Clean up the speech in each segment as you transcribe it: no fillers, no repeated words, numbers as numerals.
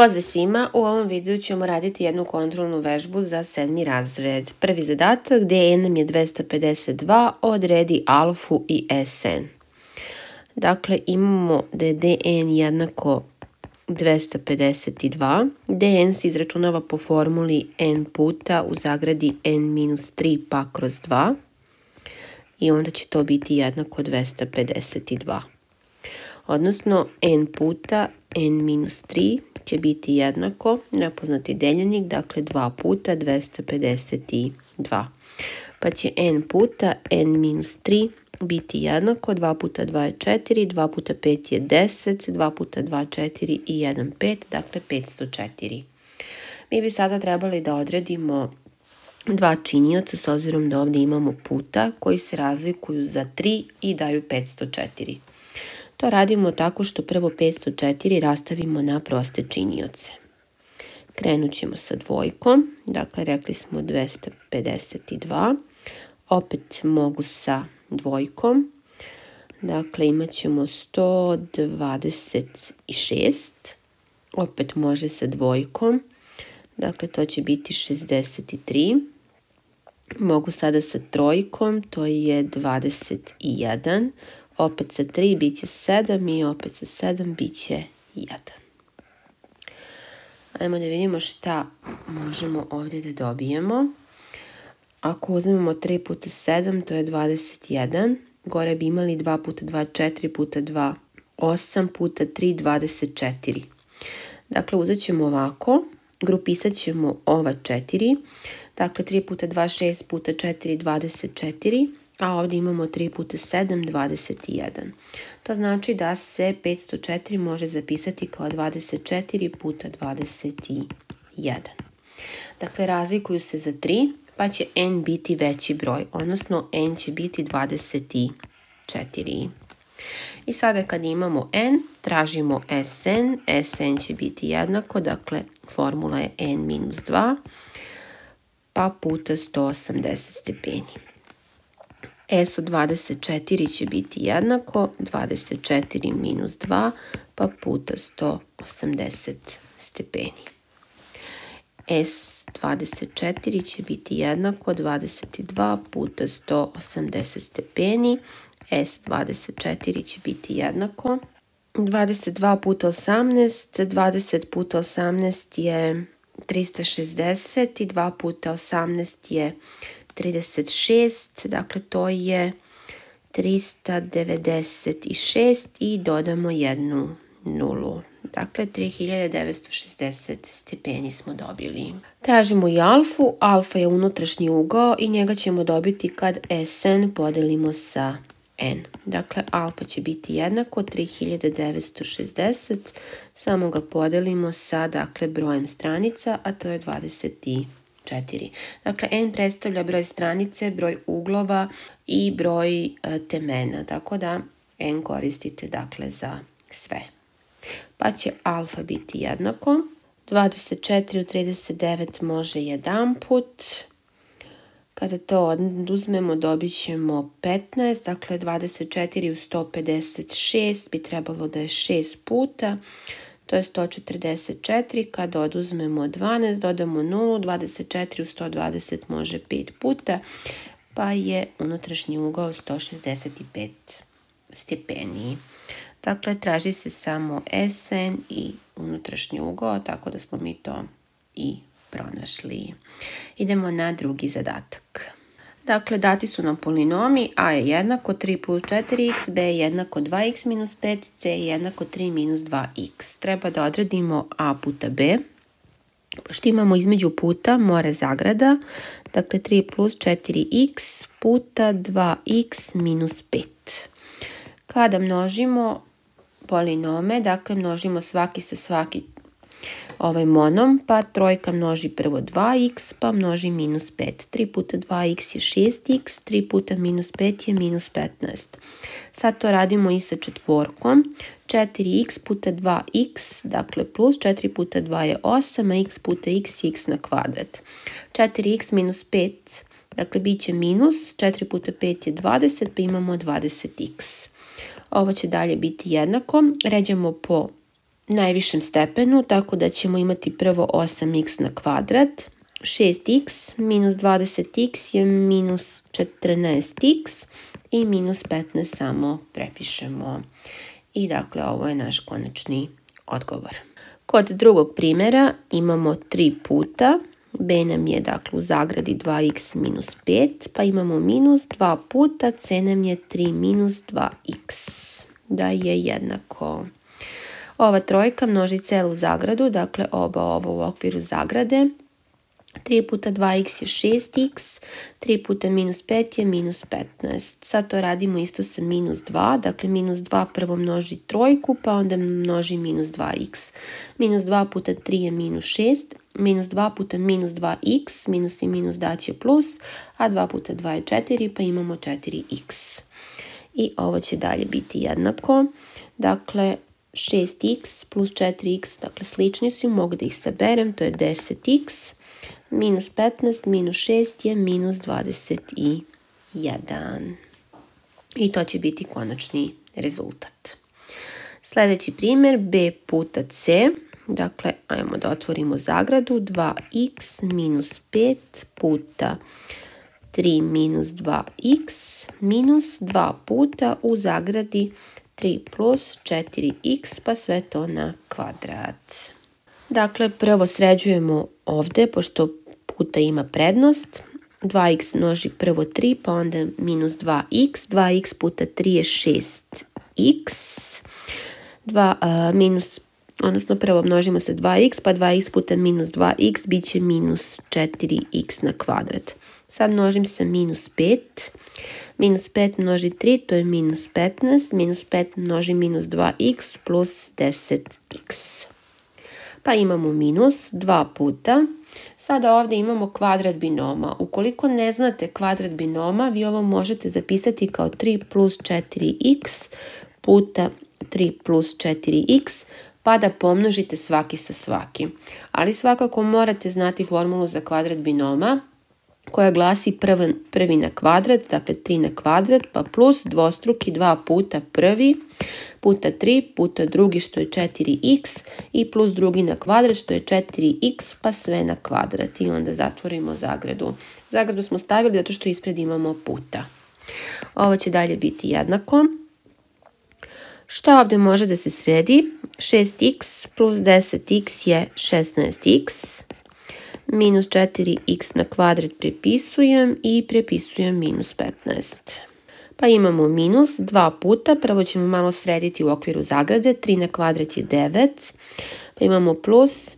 Pozdrav svima, u ovom videu ćemo raditi jednu kontrolnu vežbu za 7. razred. Prvi zadatak, dn nam je 252, odredi alfu i sn. Dakle, imamo da je dn jednako 252. dn se izračunava po formuli n puta u zagradi n-3 pa kroz 2. I onda će to biti jednako 252. Odnosno, n puta n-3 će biti jednako nepoznati deljenik, dakle 2 puta 252. Pa će n puta n-3 biti jednako 2 puta 2 je 4, 2 puta 5 je 10, 2 puta 2 4 i 1 5, dakle 504. Mi bi sada trebali da odredimo dva činioca s obzirom da ovdje imamo puta koji se razlikuju za 3 i daju 504. To radimo tako što prvo 504 rastavimo na proste činioce. Krenut ćemo sa dvojkom, dakle rekli smo 252, opet mogu sa dvojkom, dakle imat ćemo 126, opet može sa dvojkom, dakle to će biti 63, mogu sada sa trojkom, to je 21, opet sa 3 bit će 7 i opet sa 7 bit će 1. Ajmo da vidimo šta možemo ovdje da dobijemo. Ako uzmemo 3 puta 7, to je 21. Gore bi imali 2 puta 2, 4 puta 2, 8 puta 3, 24. Dakle, uzet ćemo ovako, grupisat ćemo ova 4. Dakle, 3 puta 2, 6 puta 4, 24. A ovdje imamo 3 puta 7, 21. To znači da se 504 može zapisati kao 24 puta 21. Dakle, razlikuju se za 3, pa će n biti veći broj, odnosno n će biti 24. I sada kad imamo n, tražimo sn. Sn će biti jednako, dakle, formula je n-2, pa puta 180 stepeni. S od 24 će biti jednako 24 minus 2 pa puta 180 stepeni. S 24 će biti jednako 22 puta 180 stepeni. S 24 će biti jednako 22 puta 18, 20 puta 18 je 360 i 2 puta 18 je 36, dakle to je 396 i dodamo jednu nulu. Dakle, 3960 stepeni smo dobili. Tražimo i alfu. Alfa je unutrašnji ugao i njega ćemo dobiti kad sn podelimo sa n. Dakle, alfa će biti jednako 3960, samo ga podelimo sa, dakle, brojem stranica, a to je 24. Dakle, n predstavlja broj stranice, broj uglova i broj temena, tako da n koristite, dakle, za sve. Pa će alfa biti jednako 24 u 39 može jedan put. Kada to oduzmemo dobit ćemo 15, dakle 24 u 156 bi trebalo da je 6 puta. To je 144, kada oduzmemo 12, dodamo 0, 24 u 120 može 5 puta, pa je unutrašnji ugao 165 stepeni. Dakle, traži se samo sn i unutrašnji ugao, tako da smo mi to i pronašli. Idemo na drugi zadatak. Dakle, dati su nam polinomi, a je jednako 3 plus 4x, b je jednako 2x minus 5, c je jednako 3 minus 2x. Treba da odredimo a puta b. Pošto imamo između puta, more zagrada, dakle 3 plus 4x puta 2x minus 5. Kada množimo polinome, dakle množimo svaki sa svaki ovaj monom, pa trojka množi prvo 2x, pa množi minus 5. 3 puta 2x je 6x, 3 puta minus 5 je minus 15. Sad to radimo i sa četvorkom. 4x puta 2x, dakle plus 4 puta 2 je 8, a x puta x je x na kvadrat. 4x minus 5, dakle bit će minus, 4 puta 5 je 20, pa imamo 20x. Ovo će dalje biti jednako. Ređamo po najvišem stepenu, tako da ćemo imati prvo 8x na kvadrat. 6x minus 20x je minus 14x i minus 15 samo prepišemo. I dakle, ovo je naš konačni odgovor. Kod drugog primjera imamo 3 puta. B nam je dakle u zagradi 2x minus 5, pa imamo minus 2 puta, c nam je 3 minus 2x, da je jednako. Ova trojka množi celu zagradu, dakle oba ovo u okviru zagrade. 3 puta 2x je 6x, 3 puta minus 5 je minus 15. Sad to radimo isto sa minus 2, dakle minus 2 prvo množi trojku, pa onda množi minus 2x. Minus 2 puta 3 je minus 6, minus 2 puta minus 2x, minus i minus daće plus, a 2 puta 2 je 4, pa imamo 4x. I ovo će dalje biti jednako, dakle 6x plus 4x, dakle slični su, mogu da ih saberem, to je 10x, minus 15 minus 6 je minus 21. I to će biti konačni rezultat. Sljedeći primjer, b puta c, dakle ajmo da otvorimo zagradu, 2x minus 5 puta 3 minus 2x minus 2 puta u zagradi 3 plus 4x, pa sve to na kvadrat. Dakle, prvo sređujemo ovdje, pošto puta ima prednost. 2x množi prvo 3, pa onda minus 2x. 2x puta 3 je 6x. Odnosno prvo množimo se 2x, pa 2x puta minus 2x bit će minus 4x na kvadrat. Sad množim se minus 5. Minus 5 množi 3, to je minus 15. Minus 5 množi minus 2x plus 10x. Pa imamo minus 2 puta. Sada ovdje imamo kvadrat binoma. Ukoliko ne znate kvadrat binoma, vi ovo možete zapisati kao 3 plus 4x puta 3 plus 4x, pa da pomnožite svaki sa svakim. Ali svakako morate znati formulu za kvadrat binoma, koja glasi prvi na kvadrat, dakle 3 na kvadrat, pa plus dvostruki 2 puta prvi, puta 3, puta drugi što je 4x i plus drugi na kvadrat što je 4x, pa sve na kvadrat. I onda zatvorimo zagradu. Zagradu smo stavili zato što ispred imamo puta. Ovo će dalje biti jednako. Što ovdje može da se sredi? 6x plus 10x je 16x. Minus 4x na kvadrat prepisujem i prepisujem minus 15. Pa imamo minus 2 puta, prvo ćemo malo srediti u okviru zagrade, 3 na kvadrat je 9, pa imamo plus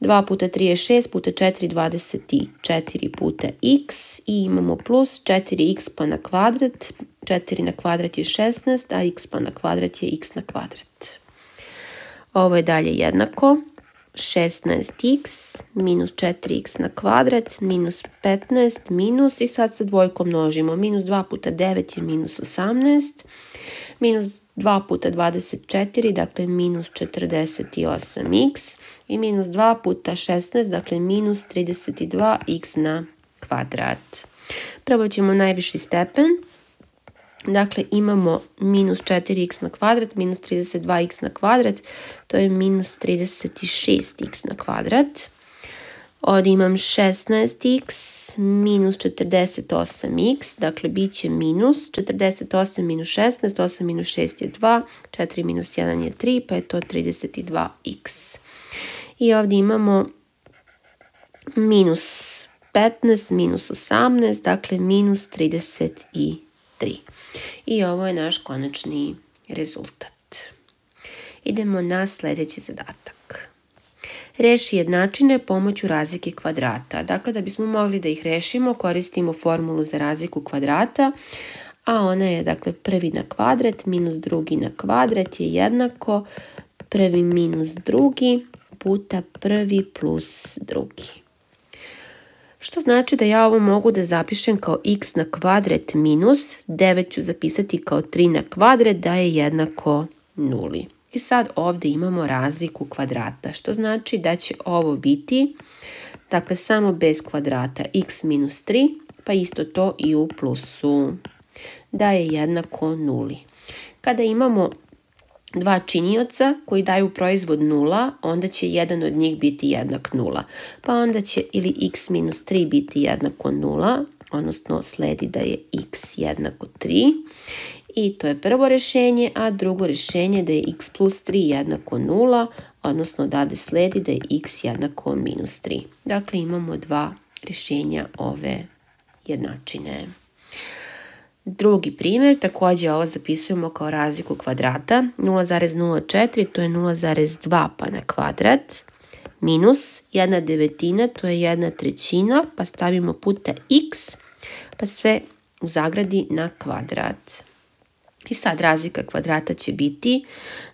2 puta 3 je 6, puta 4 24 puta x i imamo plus 4x pa na kvadrat, 4 na kvadrat je 16, a x pa na kvadrat je x na kvadrat. Ovo je dalje jednako. 16x minus 4x na kvadrat minus 15 minus i sad sa dvojkom množimo. Minus 2 puta 9 je minus 18. Minus 2 puta 24, dakle minus 48x. I minus 2 puta 16, dakle minus 32x na kvadrat. Prvo ćemo najviši stepen. Dakle, imamo minus 4x na kvadrat, minus 32x na kvadrat, to je minus 36x na kvadrat. Ovdje imam 16x minus 48x, dakle bit će minus 48 minus 16, 8 minus 6 je 2, 4 minus 1 je 3, pa je to 32x. I ovdje imamo minus 15 minus 18, dakle minus 33. I ovo je naš konačni rezultat. Idemo na sljedeći zadatak. Reši jednačine pomoću razlike kvadrata. Dakle, da bismo mogli da ih rešimo, koristimo formulu za razliku kvadrata, a ona je, dakle, prvi na kvadrat minus drugi na kvadrat je jednako prvi minus drugi puta prvi plus drugi. Što znači da ja ovo mogu da zapišem kao x na kvadrat minus 9 ću zapisati kao 3 na kvadrat da je jednako 0. I sad ovdje imamo razliku kvadrata, što znači da će ovo biti, dakle samo bez kvadrata x minus 3, pa isto to i u plusu, da je jednako 0. Kada imamo dva činioca koji daju proizvod 0, onda će jedan od njih biti jednak 0. Pa onda će ili x minus 3 biti jednako 0, odnosno sledi da je x jednako 3. I to je prvo rješenje, a drugo rješenje je da je x plus 3 jednako 0, odnosno odavde sledi da je x jednako minus 3. Dakle, imamo dva rješenja ove jednačine. Drugi primjer, također ovo zapisujemo kao razliku kvadrata, 0,04 to je 0,2 pa na kvadrat, minus 1/9, to je 1/3, pa stavimo puta x, pa sve u zagradi na kvadrat. I sad razlika kvadrata će biti,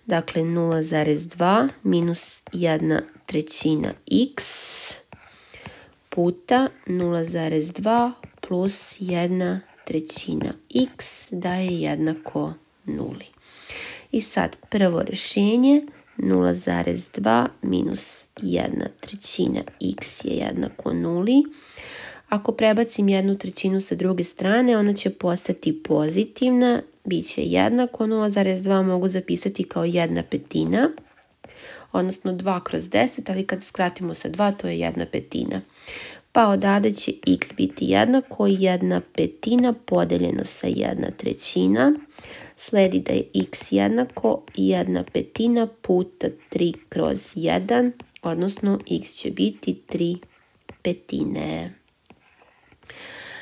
dakle 0,2 minus 1/3 x puta 0,2 plus 1/3 x daje jednako 0. I sad prvo rješenje 0,2 minus 1/3 x je jednako 0. Ako prebacim 1/3 sa druge strane, ona će postati pozitivna, bit će jednako 0,2 mogu zapisati kao 1/5, odnosno 2 kroz 10, ali kad skratimo sa 2, to je 1/5. Pa odavde će x biti jednako 1/5 podeljeno sa 1/3. Sledi da je x jednako 1/5 puta 3 kroz 1, odnosno x će biti 3/5.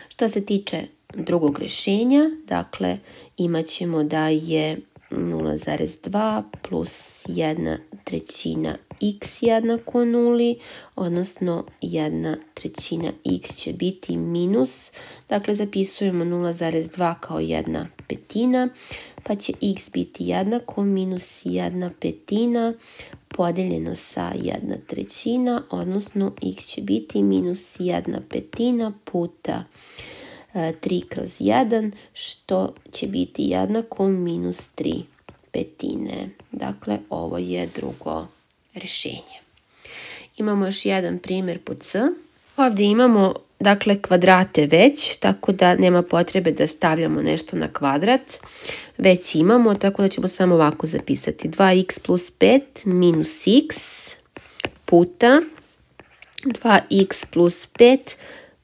Što se tiče drugog rješenja, dakle imat ćemo da je 0,2 plus 1/3 x jednako 0, odnosno 1/3 x će biti minus, dakle zapisujemo 0,2 kao 1/5, pa će x biti jednako minus 1/5 podeljeno sa 1/3, odnosno x će biti minus 1/5 puta 3 kroz 1, što će biti jednako minus 3/5. Dakle, ovo je drugo rješenje. Imamo još jedan primjer pod C. Ovdje imamo, dakle, kvadrate već, tako da nema potrebe da stavljamo nešto na kvadrat. Već imamo, tako da ćemo samo ovako zapisati. 2x plus 5 minus x puta 2x plus 5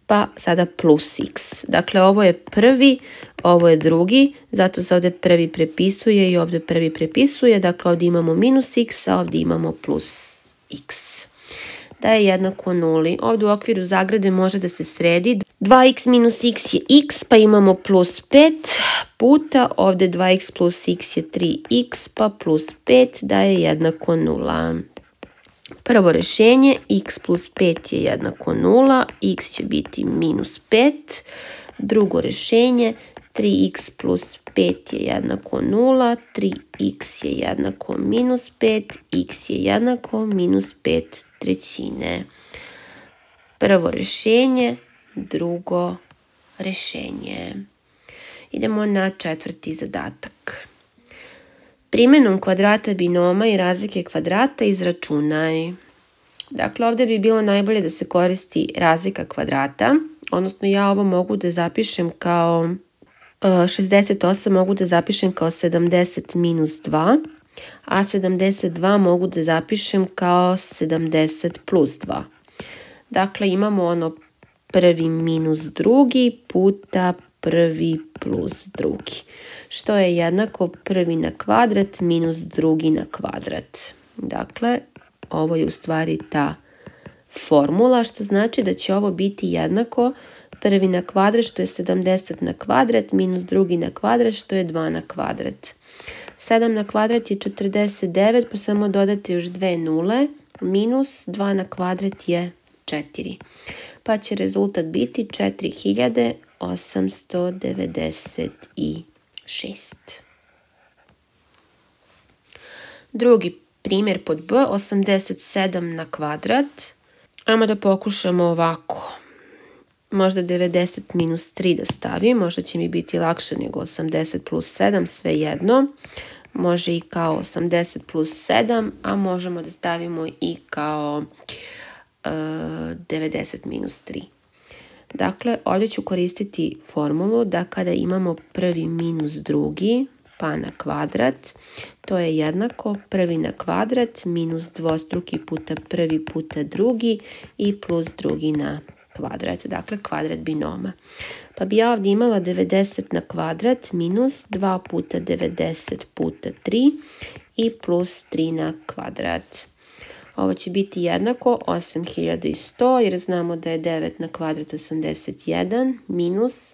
pa sada plus x. Dakle, ovo je prvi, ovo je drugi, zato se ovdje prvi prepisuje i ovdje prvi prepisuje. Dakle, ovdje imamo minus x, a ovdje imamo plus x. Da je jednako 0. Ovdje u okviru zagrade može da se sredi. 2x minus x je x, pa imamo plus 5 puta. Ovdje 2x plus x je 3x, pa plus 5 da je jednako 0. Prvo rješenje, x plus 5 je jednako 0, x će biti minus 5. Drugo rješenje, 3x plus 5 je jednako 0, 3x je jednako minus 5, x je jednako minus 5/3. Prvo rješenje, drugo rješenje. Idemo na četvrti zadatak. Primjenom kvadrata binoma i razlike kvadrata izračunaj. Dakle, ovdje bi bilo najbolje da se koristi razlika kvadrata, odnosno ja ovo mogu da zapišem kao 68, mogu da zapišem kao 70 minus 2, a 72 mogu da zapišem kao 70 plus 2. Dakle, imamo ono prvi minus drugi puta prvi plus drugi, što je jednako prvi na kvadrat minus drugi na kvadrat. Dakle, ovo je u stvari ta formula, što znači da će ovo biti jednako prvi na kvadrat, što je 70 na kvadrat, minus drugi na kvadrat, što je 2 na kvadrat. 7 na kvadrat je 49, pa samo dodate još 2 nule, minus 2 na kvadrat je 4. Pa će rezultat biti 4896. Drugi primjer pod B, 87 na kvadrat. Ajmo da pokušamo ovako. Možda 90 minus 3 da stavim, možda će mi biti lakše nego 80 plus 7, sve jedno. Može i kao 80 plus 7, a možemo da stavimo i kao 90 minus 3. Dakle, ovdje ću koristiti formulu da kada imamo prvi minus drugi, pa na kvadrat. To je jednako prvi na kvadrat minus dvostruki puta prvi puta drugi i plus drugi na kvadrat. Dakle, kvadrat binoma. Pa bi ja ovdje imala 90 na kvadrat minus 2 puta 90 puta 3 i plus 3 na kvadrat. Ovo će biti jednako 8100 jer znamo da je 9 na kvadrat 81 minus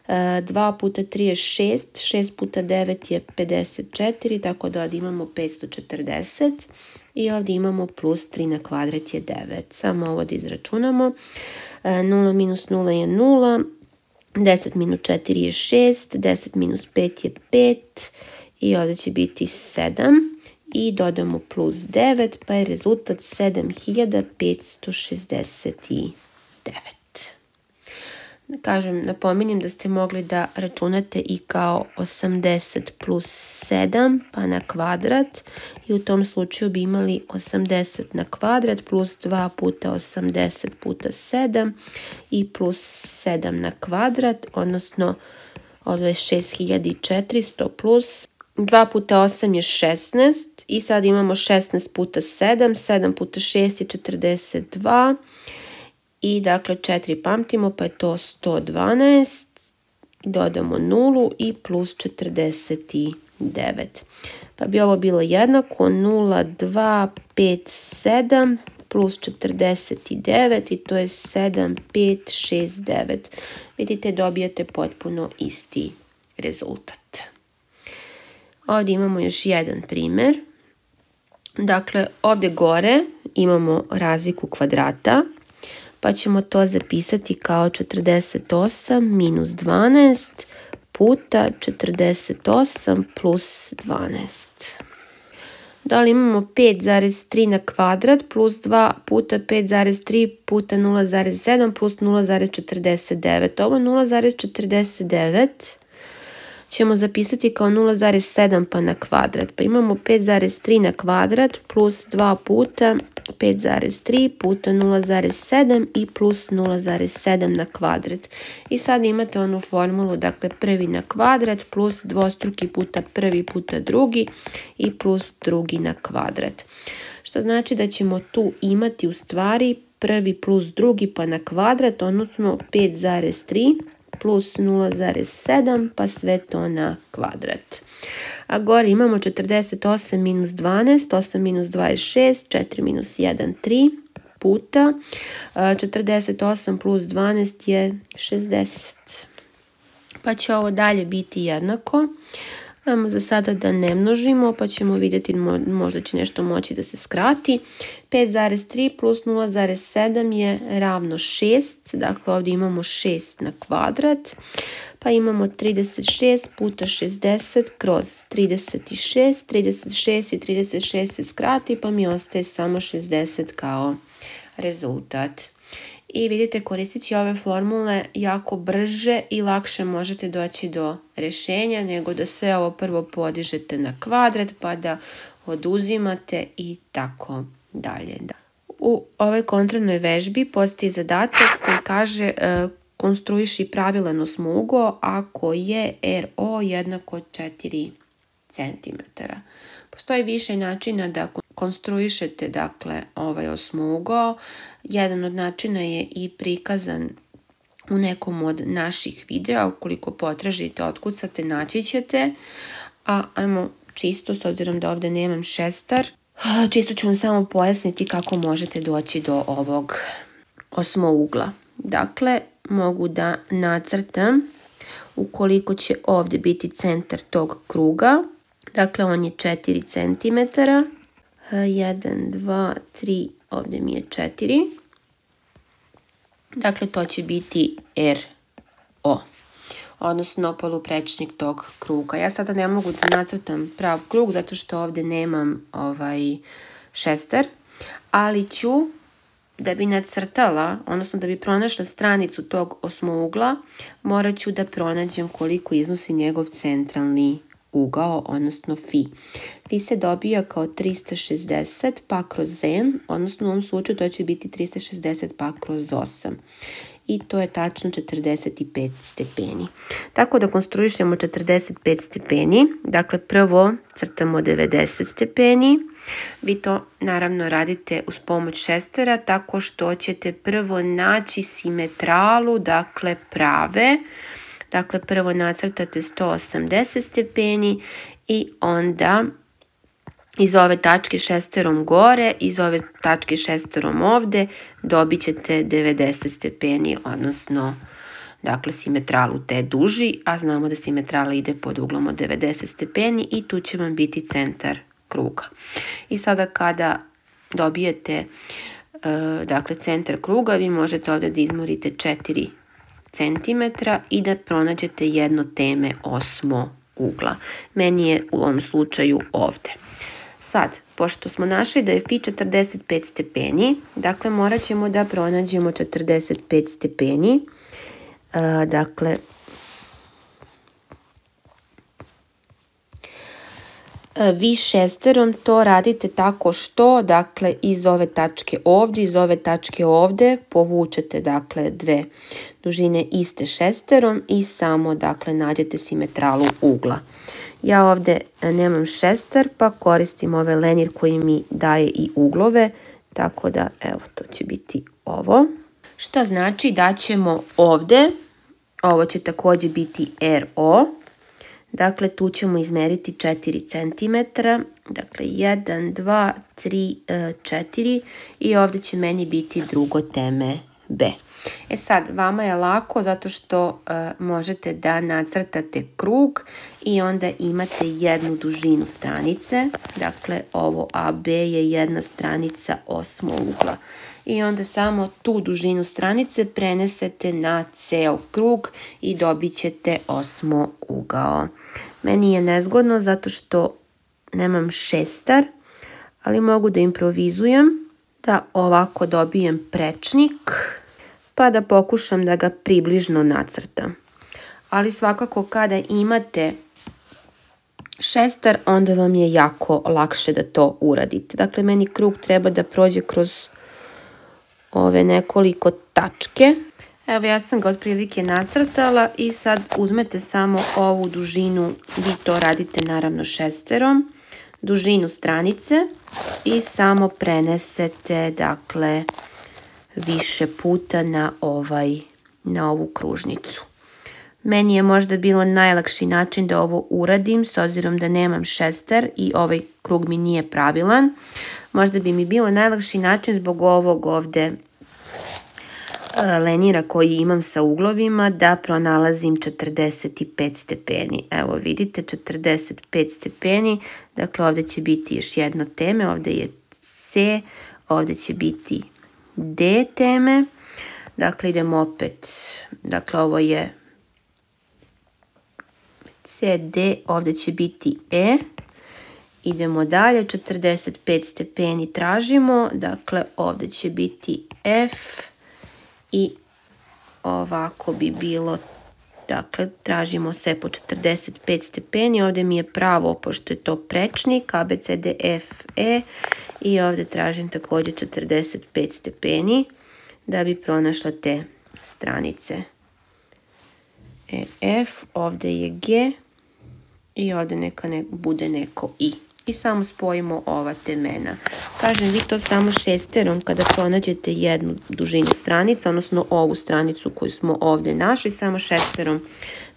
2 puta 3 je 6, 6 puta 9 je 54, tako da ovdje imamo 540 i ovdje imamo plus 3 na kvadrat je 9. Samo ovo da izračunamo. 0 minus 0 je 0, 10 minus 4 je 6, 10 minus 5 je 5 i ovdje će biti 7 i dodamo plus 9 pa je rezultat 7569. Napominjem da ste mogli da računate i kao 80 plus 7 pa na kvadrat i u tom slučaju bi imali 80 na kvadrat plus 2 puta 80 puta 7 i plus 7 na kvadrat, odnosno ovo je 6400 plus 2 puta 8 je 16 i sad imamo 16 puta 7, 7 puta 6 je 42 i dakle 4 pamtimo pa je to 112, dodamo 0 i plus 49. Pa bi ovo bilo jednako 0,257 plus 49 i to je 7569. Vidite, dobijate potpuno isti rezultat. Ovdje imamo još jedan primjer. Dakle, ovdje gore imamo razliku kvadrata, pa ćemo to zapisati kao 48 minus 12 puta 48 plus 12. Da li imamo 5,3 na kvadrat plus 2 puta 5,3 puta 0,7 plus 0,49. Ovo 0,49 ćemo zapisati kao 0,7 pa na kvadrat. Pa imamo 5,3 na kvadrat plus 2 puta 5,3 puta 0,7 i plus 0,7 na kvadrat. I sad imate onu formulu, dakle prvi na kvadrat plus dvostruki puta prvi puta drugi i plus drugi na kvadrat. Što znači da ćemo tu imati u stvari prvi plus drugi pa na kvadrat, odnosno 5,3 plus 0,7 pa sve to na kvadrat. A gore imamo 48 minus 12, 8 minus 2 je 6, 4 minus 1, 3 puta 48 plus 12 je 60. Pa će ovo dalje biti jednako. Ajmo za sada da ne množimo, pa ćemo vidjeti, možda će nešto moći da se skrati. 5,3 plus 0,7 je ravno 6, dakle ovdje imamo 6 na kvadrat, pa imamo 36 puta 60 kroz 36, 36 i 36 se skrati, pa mi ostaje samo 60 kao rezultat. I vidite, koristeći ove formule jako brže i lakše možete doći do rješenja nego da sve ovo prvo podižete na kvadrat pa da oduzimate i tako dalje. U ovoj kontrolnoj vežbi postoji zadatak koji kaže konstruiši pravilan osmougo ako je RO jednako 4 cm. Postoji više načina da konstruišete dakle ovaj osmougo. Jedan od načina je i prikazan u nekom od naših videa. Ukoliko potražite, otkucate, naći ćete. A ajmo čisto, s obzirom da ovdje nemam šestar, čisto ću vam samo pojasniti kako možete doći do ovog osmougla. Dakle, mogu da nacrtam ukoliko će ovdje biti centar tog kruga. Dakle, on je 4 cm. 1, 2, 3, ovdje mi je 4. Dakle, to će biti RO, odnosno poluprečnik tog kruga. Ja sada ne mogu da nacrtam prav krug zato što ovdje nemam šestar, ali ću, da bi nacrtala, odnosno da bi pronašla stranicu tog osmougla, morat ću da pronađem koliko iznosi njegov centralni ugao, odnosno fi. Fi se dobija kao 360 pa kroz n, odnosno u ovom slučaju to će biti 360 pa kroz 8. i to je tačno 45 stepeni. Tako da konstruišemo 45 stepeni, dakle prvo crtamo 90 stepeni. Vi to naravno radite uz pomoć šestera tako što ćete prvo naći simetralu, dakle prave. Dakle prvo nacrtate 180 stepeni i onda iz ove tačke šesterom gore, iz ove tačke šesterom ovde dobit ćete 90 stepeni, odnosno dakle simetralu te duži, a znamo da simetrala ide pod uglom od 90 stepeni i tu će vam biti centar kruga. I sada kada dobijete dakle centar kruga, vi možete ovde da izmorite 4 cm i da pronađete jedno teme osmo ugla. Meni je u ovom slučaju ovde. Sad, pošto smo našli da je fi 45 stepeni, dakle morat ćemo da pronađemo 45 stepeni. Dakle, vi šesterom to radite tako što, dakle, iz ove tačke ovdje, iz ove tačke ovdje povučete, dakle, dve dužine iste šesterom i samo, dakle, nađete simetralu ugla. Ja ovdje nemam šester, pa koristim ovaj lenjer koji mi daje i uglove, tako da, evo, to će biti ovo. Što znači da ćemo ovdje, ovo će također biti RO, dakle, tu ćemo izmeriti 4 cm, dakle 1, 2, 3, 4 i ovdje će meni biti drugo teme B. E sad, vama je lako zato što možete da nacrtate krug i onda imate jednu dužinu stranice, dakle ovo AB je jedna stranica osmog ugla. I onda samo tu dužinu stranice prenesete na ceo krug i dobit ćete osmo ugao. Meni je nezgodno zato što nemam šestar, ali mogu da improvizujem, da ovako dobijem prečnik, pa da pokušam da ga približno nacrtam. Ali svakako kada imate šestar, onda vam je jako lakše da to uradite. Dakle, meni krug treba da prođe kroz ove nekoliko tačke. Evo, ja sam ga otprilike nacrtala i sad uzmete samo ovu dužinu, vi to radite naravno šesterom, dužinu stranice i samo prenesete, dakle, više puta na ovu kružnicu. Meni je možda bilo najlakši način da ovo uradim, s obzirom da nemam šester i ovaj krug mi nije pravilan. Možda bi mi bilo najlakši način zbog ovog ovde lenjira koji imam sa uglovima da pronalazim 45 stepeni. Evo vidite 45 stepeni, dakle ovdje će biti još jedno teme, ovdje je C, ovdje će biti D teme, dakle idemo opet, dakle ovo je C, D, ovdje će biti E, idemo dalje, 45 stepeni tražimo, dakle ovdje će biti F i ovako bi bilo, dakle tražimo sve po 45 stepeni, ovdje mi je pravo pošto je to prečnik, A, B, C, D, F, E i ovdje tražim također 45 stepeni da bi pronašla te stranice. F, ovdje je G i ovdje neka bude neko I. I samo spojimo ova temena. Kažem, vi to samo šesterom kada pronađete jednu dužinu stranica, odnosno ovu stranicu koju smo ovdje našli, samo šesterom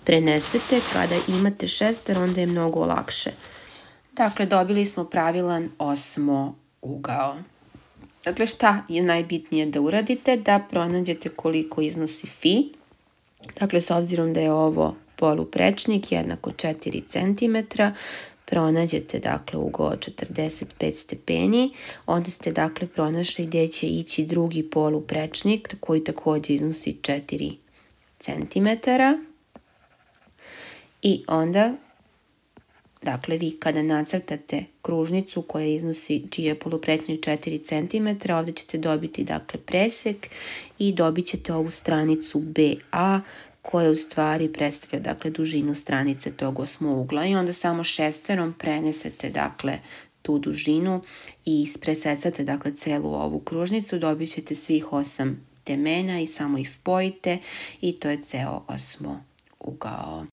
prenesete. Kada imate šester, onda je mnogo lakše. Dakle, dobili smo pravilan osmo ugao. Dakle, šta je najbitnije da uradite? Da pronađete koliko iznosi fi. Dakle, s obzirom da je ovo poluprečnik, jednako 4 cm, pronađete, dakle, ugao od 45 stepeni, onda ste, dakle, pronašli gdje će ići drugi poluprečnik, koji također iznosi 4 cm. I onda, dakle, vi kada nacrtate kružnicu koja iznosi, čiji je poluprečnik 4 cm, ovdje ćete dobiti, dakle, presek i dobit ćete ovu stranicu BA, koja u stvari predstavlja, dakle, dužinu stranice tog osmougla i onda samo šesterom prenesete, dakle, tu dužinu i presecate, dakle, celu ovu kružnicu, dobit ćete svih 8 bacite mena i samo ih spojite i to je ceo osmougao.